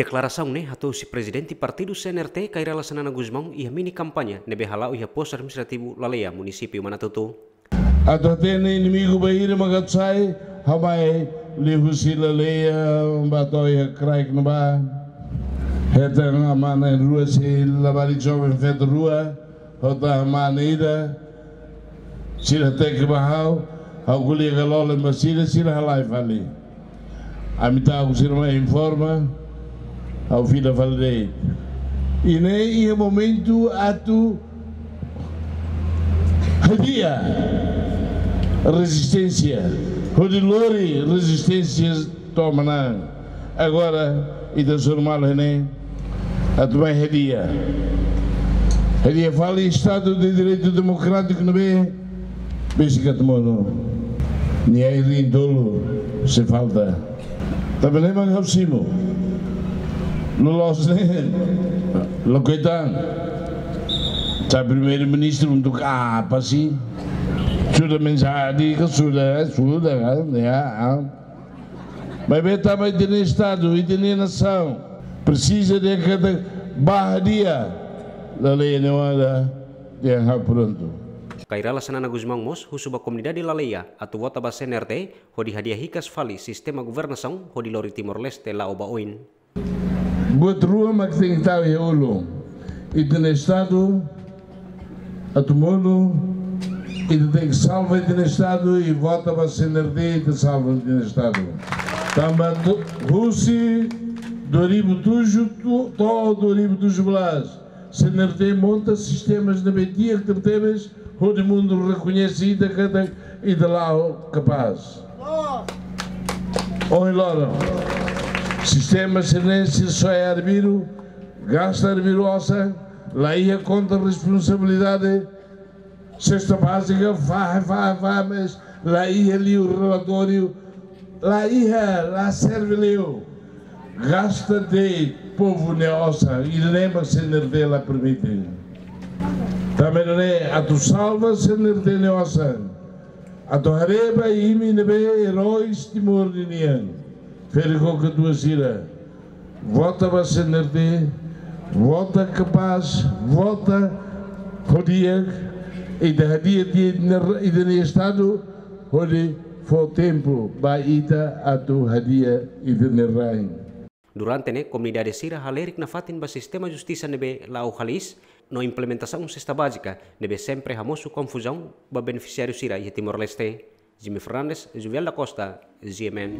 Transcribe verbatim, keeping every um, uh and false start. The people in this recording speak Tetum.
Deklarasaun ne'e hato'o husi Prezidente Partidu C N R T, Kay Rala Xanana Gusmão, iha mini kampaña ne'ebé hala'o iha Postu Administrativu Laleia, Munisípiu Manatuto. Atu hatene inimigu bainhira mak atu sai, ha'u mai liuhusi Laleia ba to'o iha kraik ne'ebá. Hetan amá-na'in rua sei labarik joven feto rua, ha'u tama ne'e ida, sira hateke ba ha'u, ha'u ko'alia ka lole ba sira, sira halai fali. Ami ta'uk sira mai informa, ha'u fila fali de'it. I ne'e iha momentu atu hadi'a rezisténsia, hodi lori rezisténsia to'o manán. Agora, ita suru malu ne'e, atu mai hadi'a. Hadi'a fali Estadu de Direitu Demokrátiku ne'ebé besik atu monu. Nia irin tolu sei falta. Tanba ne'e mak ha'u simu. Loloos ne'e, lakohi tan. Sa Primeiru-Ministru untuk apa sih? Sudah menjadi ke sudah, sudah kan, ya. Ah. Maibé tanba ita-nia Estadu, ita-nia nasaun presiza de kada ba hadi'a. Laleia ne'e wainhira ha'u prontu. Kay Rala Xanana Gusmão mós husu ba komunidade Laleia atu vota ba C N R T, hodi hadi'a hikas fali sistema governasaun hodi lori Timor-Leste la'o ba oin. Buat rua mak tenke tau iha ulun. Ita-nia Estadu atu monu, ita tenke salva ita-nia Estadu i vota ba C N R T, ita salva ita-nia Estadu. Tanba tu-, husi dua ribu tujuh tu-, to'o dua ribu tujuh belas, C N R T monta sistemas ne'ebé di'ak tebetebes, hodi mundu rekoñese ita katak ita la'o kapás. Ohin loron, sistema sira-ne'e sira soe arbiru, gasta arbiru osan, la iha konta responsabilidade, sesta bázika, fahe, fahe, fahe, mas la iha liu relatóriu, la iha, la serve liu. Gasta de'it povu nia osan, ida-ne'e mak C N R T la permite. Tanba ne'e atu salva C N R T nia osan, atu haree ba imi ne'ebé eróis Timor ninian, ferik ho katuas sira. Vota ba C N R T, vota kapás, vota ho di'ak, ita hadi'a tiha ita-nia, ita-nia Estadu, hodi fó tempu ba ita atu hadi'a ita-nia rain. Durante ne'e, komunidade sira halerik nafatin ba sistema justisa ne'ebé la'o halis, no implementasaun sesta bázika ne'ebé sempre hamosu konfuzaun ba benefisiáriu sira iha Timor-Leste. Jimmy Fernandes, Juvial da Costa, G M N.